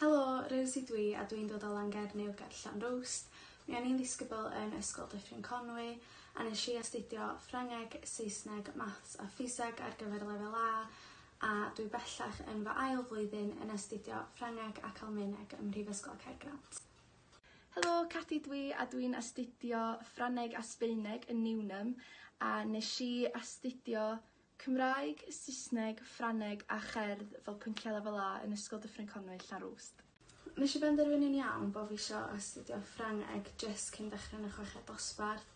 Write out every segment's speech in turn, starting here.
Helo, Rosie dwi a dwi'n dod o Langernyw ger Llanrwst. Mi o'n i'n ddisgybl yn Ysgol Dyffryn Conwy a nesh i astudio Ffrangeg, Saesneg, Maths a Ffiseg ar gyfer lefel A a dwi bellach yn fy ail flwyddyn yn astudio Ffrangeg ac Almaeneg ym Mhrifysgol Caergrawnt. Helo, Cadi dwi a dwi'n astudio Ffrangeg a Sbaeneg yn Newnham a nesh i astudio Cymraeg, Saesneg, Ffrangeg a Cherdd fel pynciau lefel A yn Ysgol Dyffryn Conwy, Llanrwst. Nesh i benderfynu'n iawn bo' fi isio astudio Ffrangeg jyst cyn dechre yn y chweched dosbarth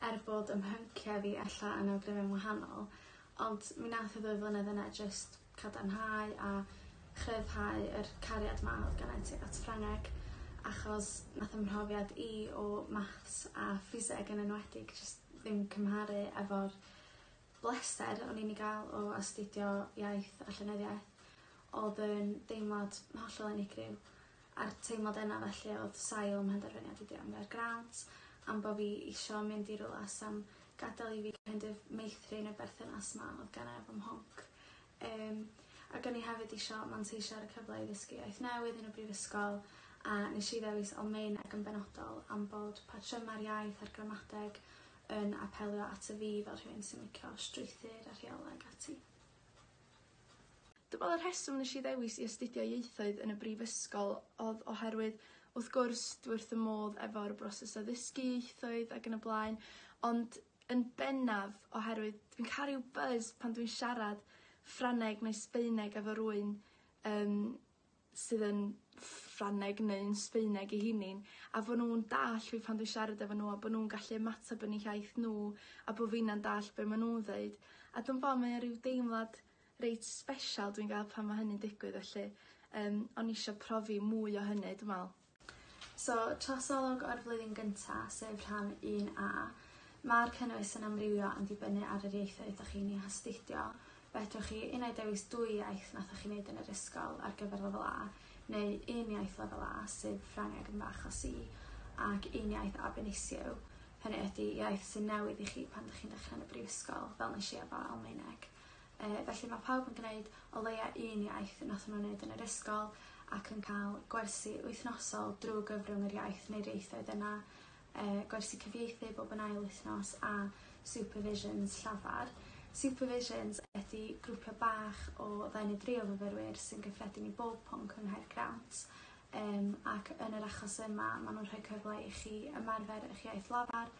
er bod 'ym mhyncia fi ella yn awgrymu'n wahanol ond mi nath y ddwy flynedd yna jyst cadarnhau a chryfhau yr cariad 'ma o'dd gennai tuag at Ffrangeg achos nath 'ym mhrofiad i o maths a ffiseg yn enwedig jyst ddim cymharu efo'r bleser o'n i'n 'i ga'l o astudio iaith a llenyddiaeth o'dd yn deimlad hollol unigryw a'r teimlad yna felly o'dd sail 'm mhenderfyniad i drio am Gaergrawnt am bo' fi isio mynd i rwla sa'n gadel i fi kind of meithrin y berthynas 'ma o'dd gennai efo mhwnc. Yym ac o'n i hefyd isio manteisio ar y cyfle i ddysgu iaith newydd yn y brifysgol a nesh i ddewis Almaeneg yn benodol am bod patryma'r iaith a'r gramadeg yn apelio ato fi fel rhywun sy'n licio strwythur a rheolau ag ati. Dwi me'wl y rheswm nesh i ddewis i astudio ieithoedd yn y brifysgol odd oherwydd wrth gwrs dwi wrth 'ym modd efo'r broses o ddysgu ieithoedd ag yn y blaen ond yn bennaf oherwydd dwi'n ca'l ryw buzz pan dwi'n siarad Ffrangeg neu Sbaeneg efo rywun yym sydd yn Ffrangeg neu'n Sbaeneg eu hunin a fo' nw'n dall' fi pan dwi'n siarad efo n'w a bo' nw'n gallu ymateb yn eu hiaith n'w a bo' finna'n dallt be' ma' nw'n ddeud. A dw'm 'bo' mae o ryw deimlad reit sbesial dwi'n ga'l pan ma' hynny'n digwydd felly yym o'n i isio profi mwy o hynny dwi me'wl. So trosolwg o'r flwyddyn gynta, sef rhan un A. Ma'r cynnwys yn amrywio yn dibynnu ar yr ieithoedd 'dach chi'n eu hastudio. Fedrwch chi unai dewis dwy iaith nathoch chi neud yn yr ysgol ar gyfer lefel A, neu un iaith lefel A, sef Ffrangeg yn fy achos i, ac un iaith ab initio, hynny ydi iaith sy'n newydd i chi pan 'dych chi'n dechre yn y brifysgol, fel nesh i efo Almaeneg. Yy felly ma' pawb yn gneud o leia un iaith nathon n'w neud yn yr ysgol ac yn ca'l gwersi wythnosol drw gyfrwng yr iaith neu'r ieithoedd yna yy gwersi cyfieithu bob yn ail wythnos a supervisions llafar. Supervisions ydi grwpia' bach o ddau neu dri o fyfyrwyr sy'n gyffredin i bob pwnc yng Nghaergrawnt yym ac yn yr achos yma ma' nw'n rhoi cyfle i chi ymarfer 'ych iaith lafar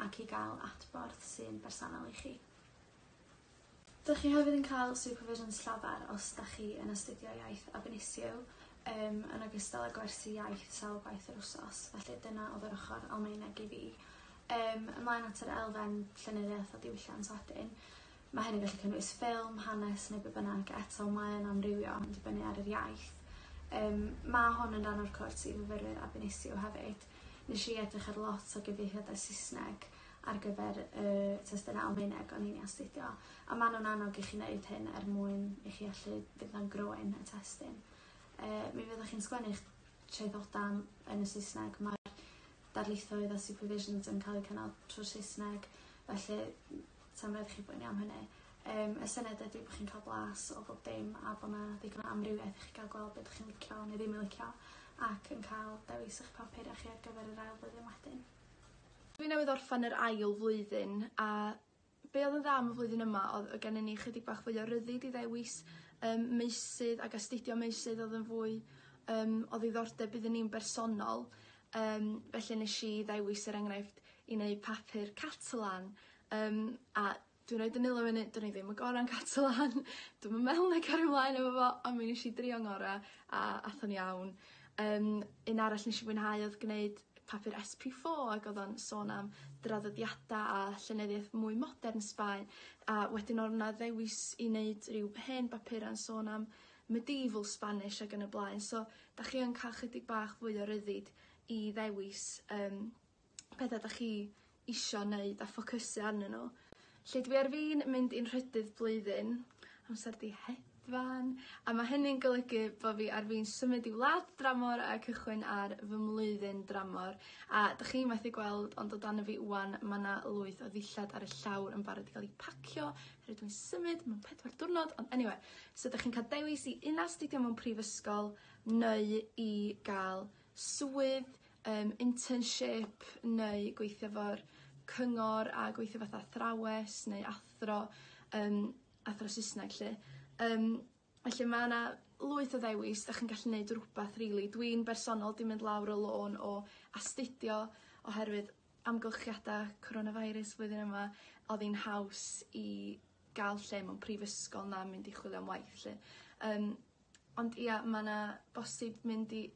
ac i ga'l adborth sy'n bersonol i chi. Dych chi hefyd yn cael supervisions llafar os dach chi yn astudio iaith ab initio, yym yn ogystal â gwersi iaith sawl gwaith yr wsos, felly dyna o'dd yr ochor Almaeneg i fi. Yym ymlaen at yr elfen llenyddiaeth a diwylliant wedyn. Ma' hyn yn gallu cynnwys ffilm, hanes neu be' bynnag, eto mae yn amrywio yn dibynnu ar yr iaith. Yym ma' hwn yn ran o'r cwrs i fyfyrwyr ab initio hefyd. Nesh i edrych ar lot o gyfieithiadau Sysneg ar gyfer y testunau Almaeneg o'n i'n 'u astudio a ma' nw'n annog i chi neud hyn er mwyn i chi allu fynd am groen y testun. Yy mi fyddwch chi'n sgwennu'ch traethoda yn y Saesneg ma'r darlithoedd a supervisions yn ca'l eu cynnal trw'r Saesneg felly sa'm raid i chi boeni am hynny. Yym y syniad ydi bo' chi'n ca'l blas o bob dim a bo' 'na ddigon o amrywiaeth i chi ga'l gweld be' 'dych chi'n licio neu ddim yn licio ac yn ca'l dewis 'ych papura chi ar gyfer yr ail flwyddyn wedyn. Dwi newydd orffen yr ail flwyddyn a be' odd yn dda am y flwyddyn yma odd o' gennyn ni chydig bach fwy o ryddid i ddewis yym meysydd ag astudio meysydd odd yn fwy yym o ddiddordeb iddyn ni'n bersonol yym felly nesh i ddewis er enghraifft i neud papur Catalan yym a Dwi'n roid 'yn nwylo fyny 'dyn ni ddim y gora'n Catalan dwi'm yn meddwl 'nai cario mlaen efo fo on' mi nesh i drio ngora' a ath o'n iawn. Yym un arall nesh i fwynhau odd gneud papur Ess Pee Four ag o'dd o'n sôn am draddodiada a llenyddiaeth mwy modern Sbaen a wedyn o'dd 'na ddewis i neud ryw hen bapura'n sôn am medieval Spanish ag yn y blaen so 'dach chi yn ca'l chydig bach fwy o ryddid i ddewis yym petha 'dach chi isio neud a ffocysu arnyn n'w. 'Lly dwi ar fin mynd i'n nhrydydd blwyddyn, amser 'di hedeg. hedfan, a mae hynny'n golygu bo' fi ar fin symud i wlad dramor a cychwyn ar fy mlwyddyn dramor. A 'dych chi methu gweld ond o dan y fi ŵan ma' 'na lwyth o ddillad ar y llawr yn barod i ga'l 'u pacio oherwydd dwi'n symud mewn 4 diwrnod ond eniwe so 'dych chi'n ca'l dewis i un astudio mewn prifysgol neu i ga'l swydd internship neu gweithio 'fo'r cyngor a gweithio fatha athrawes neu athro athro Sysneg 'lly. Felly ma' 'na lwyth o ddewis, 'dach chi'n gallu neud rwbath rili. Dwi'n bersonol 'di mynd lawr y lôn o astudio oherwydd amgylchiada coronavirus flwyddyn yma o'dd hi'n haws i ga'l lle mewn prifysgol na mynd i chwilio am waith 'lly. Ond ia ma' 'na bosib mynd i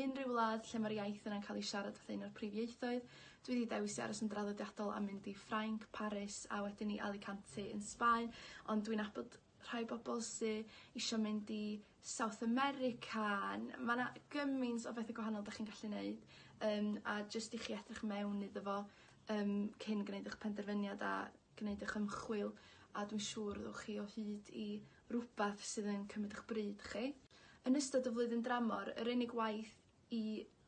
unrhyw wlad lle ma'r iaith yna'n ca'l 'i siarad fatha un o'r prif ieithoedd. Dwi 'di dewis i aros yn draddodiadol a mynd i Ffrainc, Paris a wedyn i Alicante yn Sbaen ond dwi'n nabod rhai bobol sy isio mynd i South America ma' 'na gymaint o bethe gwahanol 'dach chi'n gallu neud a jyst i chi edrych mewn iddo fo cyn gneud 'ych penderfyniad a gneud 'ych ymchwil a dwi'n siŵr ddowch chi o hyd i rwbath sydd yn cymryd 'ych bryd chi. Yn ystod y flwyddyn dramor, yr unig waith i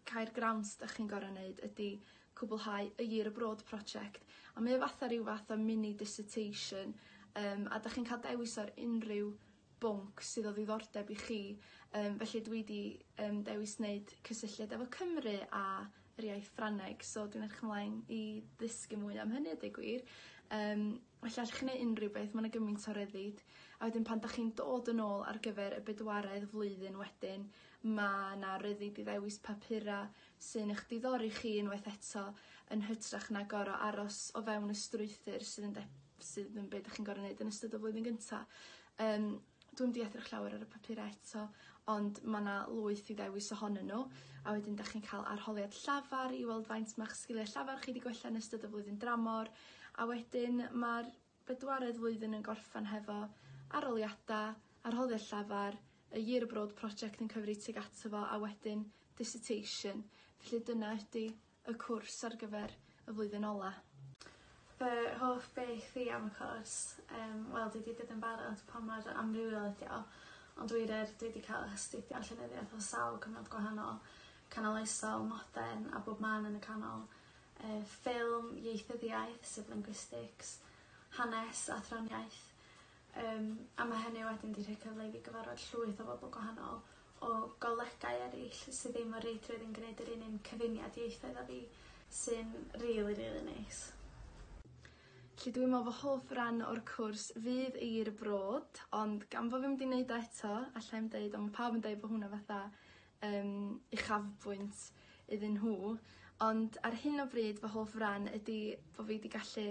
Caergrawnt 'dach chi'n gor'o' neud ydi cwblhau a Year Abroad project a mae o fatha ryw fath o mini dissertation a 'dach chi'n ca'l dewis ar unrhyw bwnc sydd o ddiddordeb i chi felly dwi 'di dewis neud cysylltiad efo Cymru a yr iaith Ffrangeg so dwi'n edrych ymlaen i ddysgu mwy am hynny a deu gwir. Felly allwch chi neud unrhyw beth, ma' 'na gymaint o ryddid. A wedyn pan 'dach chi'n dod yn ôl ar gyfer y bedwaredd flwyddyn wedyn ma' 'na ryddid i ddewis papura sy'n eich diddori chi unwaith eto yn hytrach na gor'o' aros o fewn y strwythur sydd yn sydd yn be' 'dach chi'n gor'o' neud yn ystod y flwyddyn gynta. Dwi'm 'di edrych llawer ar y papura eto ond ma' 'na lwyth i ddewis ohonyn nhw a wedyn 'dach chi'n ca'l arholiad llafar i weld faint ma'ch sgilie llafar chi 'di gwella yn ystod y flwyddyn dramor a wedyn ma'r bedwaredd flwyddyn yn gorffan hefo arholiada, arholiad llafar, y Year Abroad project yn cyfri tuag ato fo a wedyn dissertation. Felly dyna ydi y cwrs ar gyfer y flwyddyn ola. Fy hoff beth i am y cwrs wel dwi 'di deud yn barod pa mor amrywiol ydi o ond wir yr dwi 'di ca'l astudio llenyddiaeth o sawl cyfnod gwahanol, canoloesol, modern a bob man yn y canol. Ffilm, ieithyddiaeth sef linguistics, hanes, athroniaeth a ma' hynny wedyn 'di rhoi cyfle i fi gyfarfod llwyth o bobol gwahanol o golegau eryll sy ddim o reidrwydd yn gneud yr un un cyfuniad ieithoedd â fi sy'n rili rili neis. Felly dwi'n me'wl fy hoff ran o'r cwrs fydd a Year Abroad ond gan bo' fi 'im 'di neud o eto allai'm deud on' ma' pawb yn deud bo' hwnna fatha uchafbwynt iddyn nhw ond ar hyn o bryd fy hoff ran ydi bo' fi 'di gallu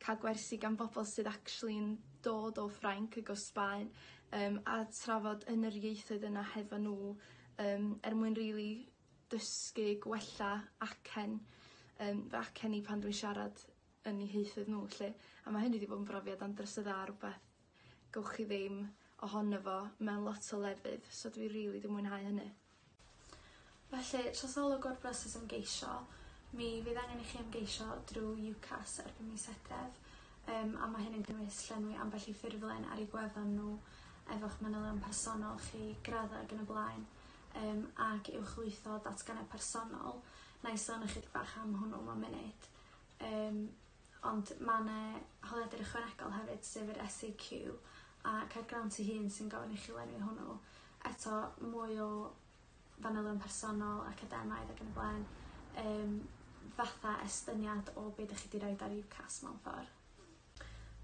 ca'l gwersi gan bobol sydd actually'n dod o Ffrainc ag o Sbaen a trafod yn yr ieithoedd yna hefo nhw er mwyn rili dysgu gwella acen fy acen i pan dwi'n siarad yn 'u hieithoedd nhw 'lly. A ma' hynny 'di bod yn brofiad andros o dda rwbath gowch chi ddim ohono fo mewn lot o lefydd so dwi rili 'di mwynhau hynny. Felly, trosolwg o'r broses ymgeisio, mi fydd angen i chi ymgeisio drwy UCAS erbyn mis Hydref a ma' hyn yn cynnwys llenwi ambell i ffurflen ar eu gwefan nhw efo'ch manylion personol chi, graddau ag yn y blaen ac uwchlwytho datganiad personol. Na i sôn ychydig bach am hwnnw mewn munud. Ond ma' 'ne holiadur ychwanegol hefyd sef yr SAQ a Caergrawnt ei hun sy'n gofyn i chi lenwi hwnnw. Eto mwy o fanylion personol, academaidd ac yn y blaen fatha estyniad o be' 'dych chi 'di roid ar UCAS mewn ffor.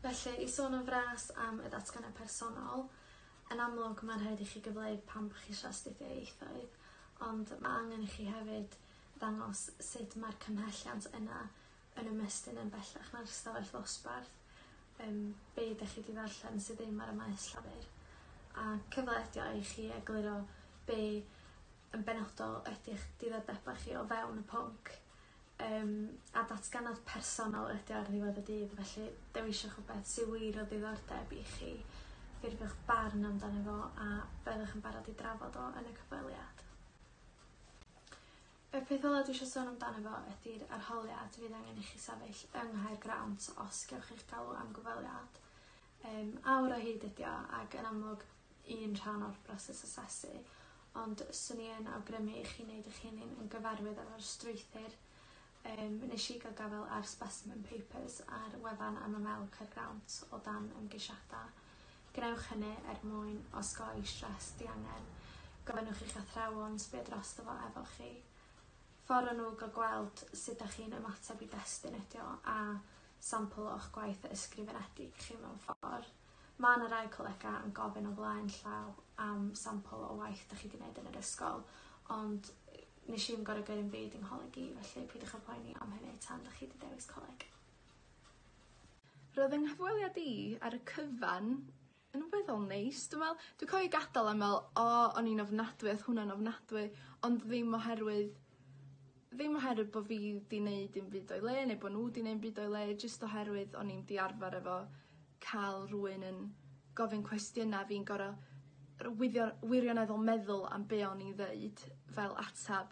Felly i sôn yn fras am y datganiad personol, yn amlwg ma'n rhaid i chi gyfleu pam bo' chi isio astudio ieithoedd, ond ma' angen i chi hefyd ddangos sut ma'r cymhelliant yna yn ymestyn yn bellach na'r stafell ddosbarth, be' 'dych chi 'di ddarllen sydd ddim ar y maes llafur, a cyfle ydi o i chi egluro be' yn benodol ydi'ch diddordeba chi o fewn y pwnc a datganad personol ydi o ar ddiwedd y dydd felly dewiswch rwbeth sy wir o ddiddordeb i chi, ffurfiwch barn amdano fo a byddwch yn barod i drafod o yn y cyfweliad. Y peth ola dwi isio sôn amdano fo ydi'r arholiad fydd angen i chi sefyll yng Nghaergrawnt os gewch chi'ch galw am gyfweliad. Awr o hyd ydi o ac yn amlwg un rhan o'r broses asesu, ond 'swn i yn awgrymu i chi wneud eich hunain yn gyfarwydd efo'r strwythur. Nes i gael gafael ar specimen papers ar wefan MML Caergrawnt o dan ymgeisiadau. Gwnewch hynny er mwyn osgoi stress diangen. Gofynnwch i'ch athrawon sbio drosto fo efo chi. Ffordd o nhw gael gweld sut dach chi'n ymateb i destun ydi o a sampl o'ch gwaith ysgrifenedig chi mewn ffordd. Mae yna rai colegau yn gofyn o flaen llaw am sampl o waith dach chi 'di wneud yn yr ysgol, ond nes i'm gor'o' gyrru 'im byd yng ngholeg i, felly peidiwch â poeni am hynny tan 'dach chi 'di dewis coleg. Roedd 'y nghyfweliad i ar y cyfan yn weddol neis dwi me'wl. Dwi cofio gadal a me'wl o o'n i'n ofnadwy o'dd hwnna'n ofnadwy ond ddim oherwydd ddim oherwydd bo' fi 'di neud dim byd o'i le neu bo' n'w 'di neud 'im byd o'i le jyst oherwydd o'n i'm 'di arfer efo ca'l rywun yn gofyn cwestiyna' fi'n gor'o' wirioneddol meddwl am be' o'n i'n ddeud fel atab.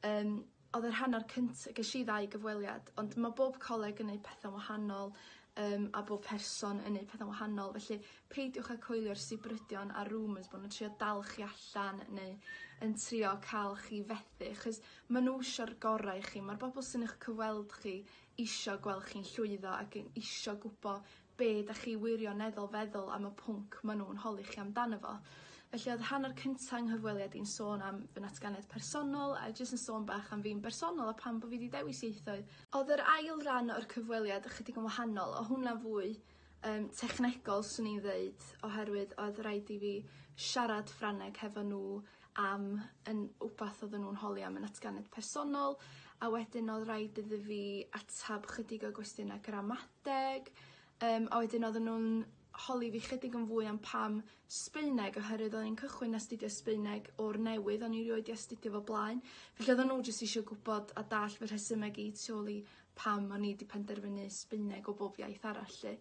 O'dd yr hanner cynta gesh i ddau gyfweliad ond ma' bob coleg yn neud pethe'n wahanol a bob person yn neud petha'n wahanol felly peidiwch â coelio'r sibrydion a rumours bo' nw'n trio dal chi allan neu yn trio ca'l chi fethu achos ma' n'w isio'r gorau i chi ma'r bobol sy'n eich cyfweld chi isio gweld chi'n llwyddo ac yn isio gwbo be' 'dach chi wirioneddol feddwl am y pwnc ma' nw'n holi chi amdano fo. Felly o'dd hanner cynta 'ng nghyfweliad i'n sôn am fy natganiad personol a jyst yn sôn bach am fi'n bersonol a pam bo' fi 'di dewis ieithoedd. O'dd yr ail ran o'r cyfweliad ychydig yn wahanol, o' hwnna fwy technegol swn i'n ddeud oherwydd o'dd raid i fi siarad Ffrangeg hefo nhw am yn wbath oedden nhw'n holi am yn natganiad personol a wedyn o'dd raid iddo fi atab chydig o gwestiynau gramadeg a wedyn oedden nhw'n holi fi chydig yn fwy am pam Sbaeneg oherwydd o'n i'n cychwyn astudio Sbaeneg o'r newydd, o'n i rioed 'di astudio fo blaen. Felly oedden nhw jyst isio gwbod a dallt fy rhesymeg i tu ôl i pam o'n i 'di penderfynu Sbaeneg o bob iaith arall 'lly.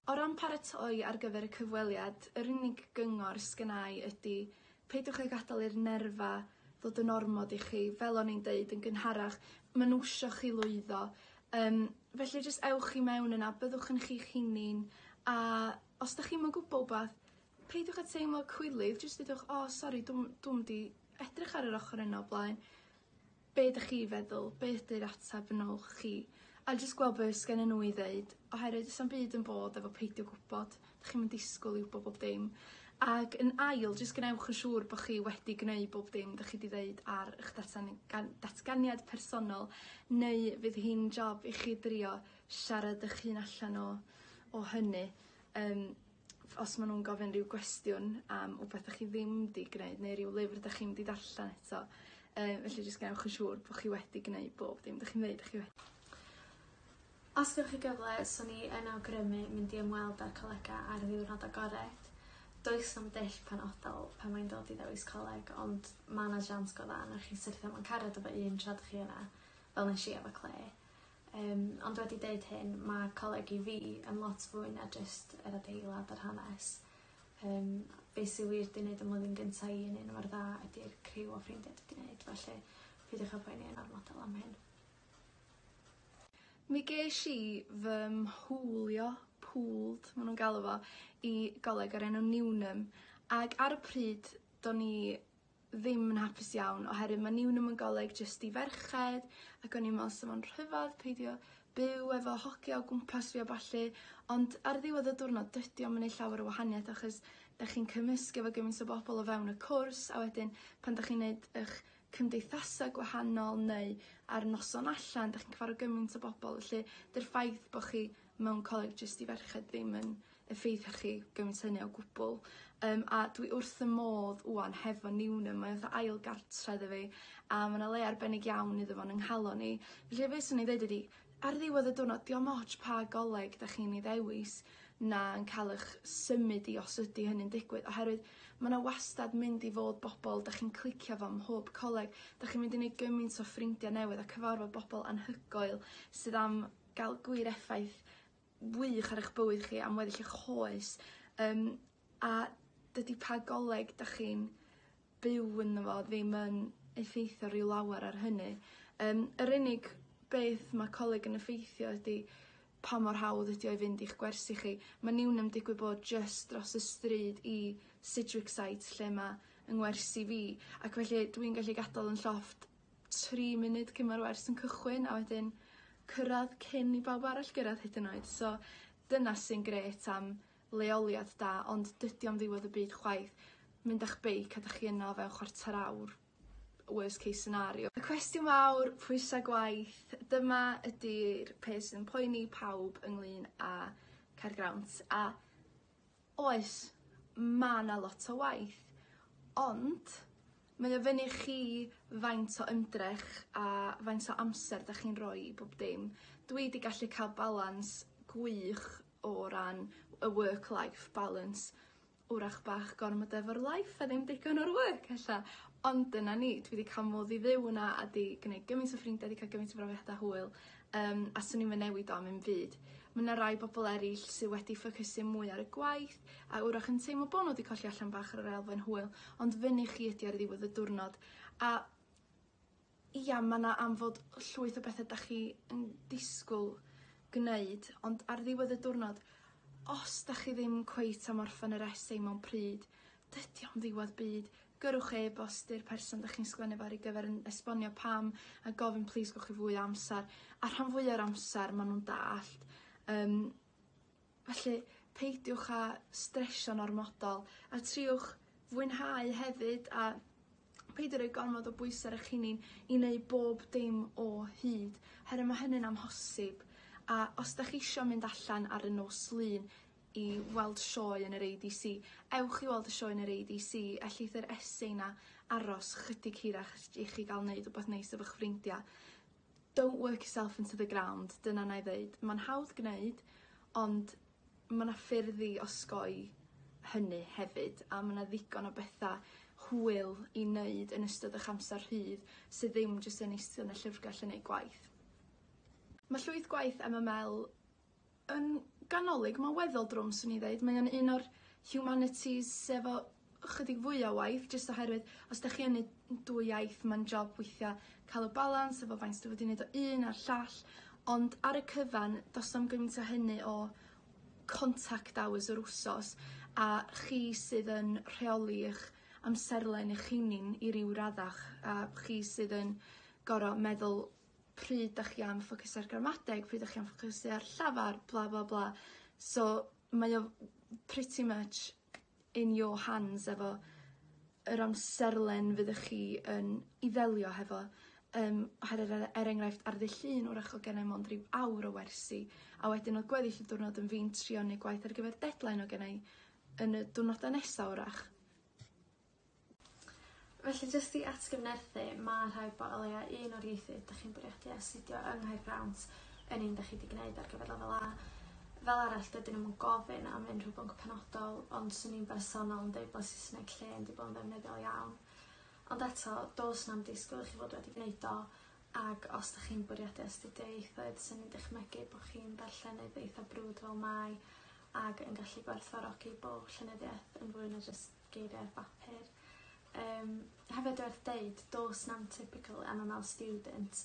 O ran paratoi ar gyfer y cyfweliad, yr unig gyngor sgynnai ydi peidiwch â gadael i'r nerfa ddod yn ormod i chi. Fel o'n i'n deud yn gynharach, ma' nhw isio chi lwyddo. Felly jyst ewch i mewn yna, byddwch yn chi'ch hunin, a os 'dach chi'm yn gwbo wbath, peidiwch â teimlo cwilydd, jyst dudwch, o sori, dwi'm 'di edrych ar yr ochr yna o blaen. Be' 'dych chi feddwl? Be' ydi'r atab yn ôl chi? A jyst gweld be' sgennyn nhw i ddeud, oherwydd do's na'm byd yn bod efo peidio gwbod, 'dych chi'm yn disgwyl i wbo bob dim. Ag yn ail, jyst gwnewch yn siŵr bo' chi wedi gneud bob dim 'dych chi 'di ddeud ar 'ych datganiad personol, neu fydd hi'n job i chi drio siarad 'ych hun allan o hynny. Os ma' nw'n gofyn ryw gwestiwn am wbath 'dych chi ddim 'di gneud neu ryw lyfr 'dych chi'm 'di darllen eto. Felly jyst gwnewch yn siŵr bo' chi wedi gneud bob dim 'dych chi'n ddeud 'dych chi wedi. Os gewch chi gyfle, swn i yn awgrymu mynd i ymweld â'r colega ar ddiwrnod agored. Does na'm dull penodol pan mae'n dod i ddewis coleg, ond ma' 'na siawns go dda newch chi syrthio mewn cariad efo un tra 'dych chi yna, fel nesh i efo Clare. Ond wedi deud hyn, ma' coleg i fi yn lot fwy na jyst yr adeilad a'r hanes. Be' sy wir 'di neud 'ym mlwyddyn gynta i yn un mor dda ydi'r criw o ffrindiau dwi 'di neud, felly peidiwch â poeni yn ormodol am hyn. Mi gesh i fy mhwlio, pooled ma' nw'n galw fo, i goleg o'r enw Newnham ag ar y pryd do'n i ddim yn hapus iawn oherwydd ma' Newnham yn goleg jyst i ferched ac o'n i'n me'wl sa fo'n rhyfadd peidio byw efo hogia o gwmpas fi a ballu, ond ar ddiwedd y diwrnod dydi o'm yn neud llawer o wahaniaeth achos 'dach chi'n cymysgu efo gymaint o bobol o fewn y cwrs a wedyn pan 'dach chi'n neud 'ych cymdeithasa gwahanol neu ar noson allan, 'dach chi'n cyfarfod gymaint o bobol, felly 'dy'r ffaith bo' chi mewn coleg jyst i ferched ddim yn effeithio chi gymaint hynny o gwbwl. A dwi wrth 'y modd ŵan hefo Newnham, mae o fatha ail gartre iddo fi a ma' 'na le arbennig iawn iddo fo yn 'yng nghalon i. Felly be' swn i'n ddeud ydi ar ddiwedd y diwrnod dio'm ots pa goleg 'dach chi'n ei ddewis na yn ca'l 'ych symud i os ydi hynny'n digwydd, oherwydd ma' 'na wastad mynd i fod bobol 'dach chi'n clicio fo ym mhob coleg, 'dach chi'n mynd i neud gymaint o ffrindia newydd a cyfarfod bobol anhygoel sydd am ga'l gwir effaith wych ar eich bywyd chi am weddill eich oes. A dydi pa goleg 'dach chi'n byw ynddo fo ddim yn effeithio ryw lawer ar hynny. Yr unig beth ma' coleg yn effeithio ydi pa mor hawdd ydi o i fynd i'ch gwersi chi. Ma' Newnham digwydd bod jyst dros y stryd i Sidgwick site lle ma' 'yng ngwersi fi, ac felly dwi'n gallu gadal yn llofft 3 munud cyn ma'r wers yn cychwyn a wedyn cyrradd cyn i bawb arall gyrradd hyd yn oed. So dyna sy'n grêt am leoliad da, ond dydi o'm ddiwedd y byd chwaith. Mynd â'ch beic a 'dach chi yno o fewn chwarter awr, worst case scenario. Y cwestiwn mawr, pwysa gwaith, dyma ydi'r peth sy'n poeni pawb ynglyn â Caergrawnt, a oes, ma' 'na lot o waith, ond mae o fyny chi faint o ymdrech a faint o amser 'dach chi'n rhoi i bob dim. Dwi 'di gallu cael balans gwych o ran y work life balance. Wrach bach gormod efo'r life a ddim digon o'r work ella, ond dyna ni, dwi 'di ca'l modd i fyw yna a 'di gneud gymaint o ffrindiau, 'di cael gymaint o brofiadau hwyl, a swn i'm yn newid o am 'im byd. Ma' 'na rai bobol eryll sy wedi ffocysu mwy ar y gwaith a wrach yn teimlo bo' n'w 'di colli allan bach ar yr elfen hwyl, ond fyny chi ydi ar ddiwedd y diwrnod. A ia, ma' 'na am fod llwyth o bethe 'dach chi yn disgwyl gneud, ond ar ddiwedd y diwrnod, os 'dach chi ddim cweit am orffen yr essay mewn pryd, dydi o'm ddiwedd byd. Gyrrwch e-bost i'r person 'dach chi'n sgwennu fo ar ei gyfer yn esbonio pam a gofyn plîs gewch chi fwy o amser, a rhan fwya o'r amser ma' nw'n dallt. Felly peidiwch â stresio'n ormodol a triwch fwynhau hefyd a peidio roi gormod o bwysa ar eich hunin i neu' bob dim o hyd, herwydd ma' hynny'n amhosib. A os 'dach chi isio mynd allan ar y nos Lun i weld sioe yn yr ADC, ewch i weld y sioe yn yr ADC, ellith yr essay 'na aros chydig hirach i chi ga'l neud wbath neis efo'ch ffrindia. Don't work yourself into the ground, dyna 'nai ddeud. Ma'n hawdd gneud, ond ma' 'na ffyrdd i osgoi hynny hefyd, a ma' 'na ddigon o betha hwyl i neud yn ystod 'ych amser rhydd sydd ddim jyst yn iste yn y llyfrgell yn neud gwaith. Ma' llwyth gwaith MML yn ganolig, ma'n weddol drwm swn i ddeud. Mae o'n un o'r humanities efo chydig fwy o waith, jyst oherwydd os 'dach chi yn neud dwy iaith ma'n job weithia' ca'l y balans efo faint dwi wedi neud o un a'r llall, ond ar y cyfan do's na'm gymaint o hynny o contact hours yr wsos, a chi sydd yn rheoli 'ych amserlen eich hunin i ryw raddach, a chi sydd yn gor'o' meddwl pryd 'dach chi am ffocysu ar gramadeg, pryd 'dach chi am ffocysu ar llafar, bla bla bla. So mae o pretty much in your hands efo yr amserlen fyddech chi yn i ddelio hefo. Oherwydd er enghraifft ar ddydd Llun wrach o'dd gennai mond ryw awr o wersi, a wedyn o'dd gweddill y diwrnod yn fi'n trio neud gwaith ar gyfer deadline o gennai yn y diwrnoda nesa wrach. Felly jyst i atgyfnerthu, ma' rhaid bo' o leia un o'r ieithoedd 'dach chi'n bwriadu astudio yng Nghaergrawnt yn un 'dach chi 'di gneud ar gyfer lefel A. Fel arall dydyn nw'm yn gofyn am unrhyw bwnc penodol, ond swn i'n bersonol yn deud bo' Saesneg llên 'di bod yn ddefnyddiol iawn. Ond eto, do's na'm disgwyl i chi fod wedi gneud o, ag os 'dach chi'n bwriadu astudio ieithoedd, swn i'n dychmygu bo' chi'n darllenydd eitha brwd fel mai ag yn gallu gwerthfawrogi bo' llenyddiaeth yn fwy na jyst geirie ar bapur. Hefyd werth deud, do's na'm typical MML student.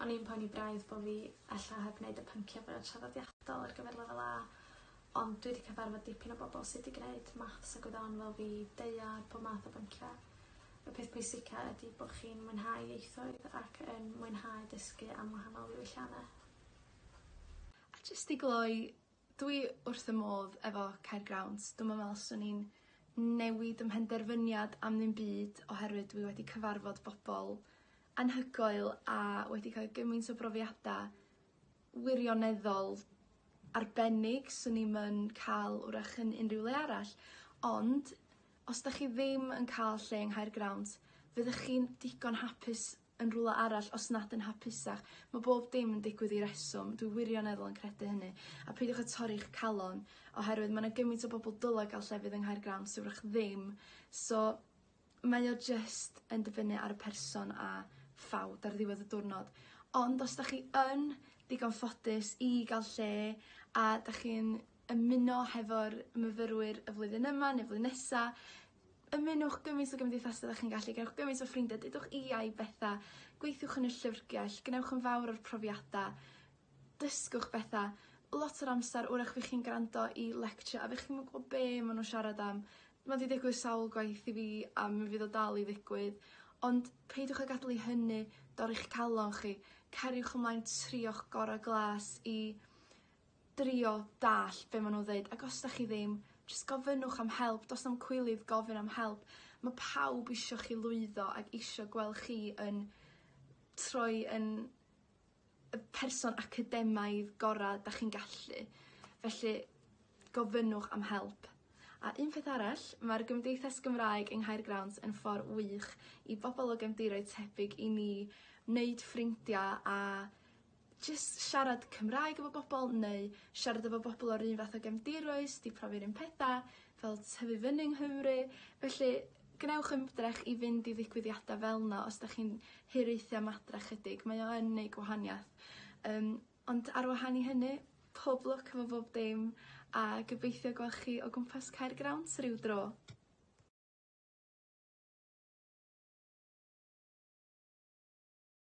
O'n i'n poeni braidd bo' fi ella heb wneud y pyncia' fwya traddodiadol ar gyfer lefel A, ond dwi 'di cyfarfod dipyn o bobol sy 'di gneud maths a gwyddon fel fi, daear, pob math o byncia'. Y peth pwysica ydi bo' chi'n mwynhau ieithoedd ac yn mwynhau dysgu am wahanol ddiwyllianne. A jyst i gloi, dwi wrth 'y modd efo Caergrawnt. Dwi'm yn me'wl swn i'n newid 'ym mhenderfyniad am ddim byd oherwydd dwi wedi cyfarfod bobol anhygoel a wedi cael gymaint o brofiada wirioneddol arbennig swn i'm yn ca'l wrach yn unrhyw le arall. Ond os 'dach chi ddim yn ca'l lle yng Nghaergrawnt, fyddech chi'n digon hapus yn rwla arall os nad yn hapusach. Ma' bob dim yn digwydd i reswm, dwi wirioneddol yn credu hynny. A peidiwch â torri'ch calon oherwydd ma' 'na gymaint o bobol dyle ga'l llefydd yng Nghaergrawnt sy wrach ddim. So mae o jyst yn dibynnu ar y person a ffawd ar ddiwedd y diwrnod. Ond os 'dach chi yn digon ffodus i ga'l lle a 'dach chi'n ymuno hefo'r myfyrwyr y flwyddyn yma neu flwyddyn nesa, ymunwch gymaint o gymdeithasa ddach chi'n gallu, gewch gymaint o ffrindiau, dudwch ia i betha, gweithiwch yn y llyfrgell, gwnewch yn fawr o'r profiada, dysgwch betha. Lot o'r amser 'w'rach fy' chi'n grando i lecture a fy' chi'm yn gwbo be' ma' nw'n siarad am. Ma' 'di digwydd sawl gwaith i fi a mi fydd o dal i ddigwydd ond peidiwch â gadel i hynny dorri'ch calon chi. Cariwch ymlaen trio'ch gora' glas i drio dallt be' ma' nw'n ddeud ac os 'dach chi ddim jyst gofynnwch am help do's na'm cwilydd gofyn am help. Ma' pawb isio chi lwyddo ag isio gweld chi yn troi yn y person academaidd gora' 'dach chi'n gallu. Felly gofynnwch am help. A un peth arall, ma'r Gymdeithas Gymraeg yng Nghaergrawnt yn ffor wych i bobol o gefndiroedd tebyg i ni wneud ffrindia a jyst siarad Cymraeg efo bobol neu siarad efo bobol o'r un fath o gefndiroedd sy 'di profi'r un petha fel tyfu fyny yng Nghymru. Felly gwnewch ymdrech i fynd i ddigwyddiada fel 'na os 'dach chi'n hiraethu am adra chydig mae o yn neud gwahaniath. Ond ar wahân i hynny, pob lwc efo bob dim a gobeithio gwel' chi o gwmpas Caergrawnt ryw dro.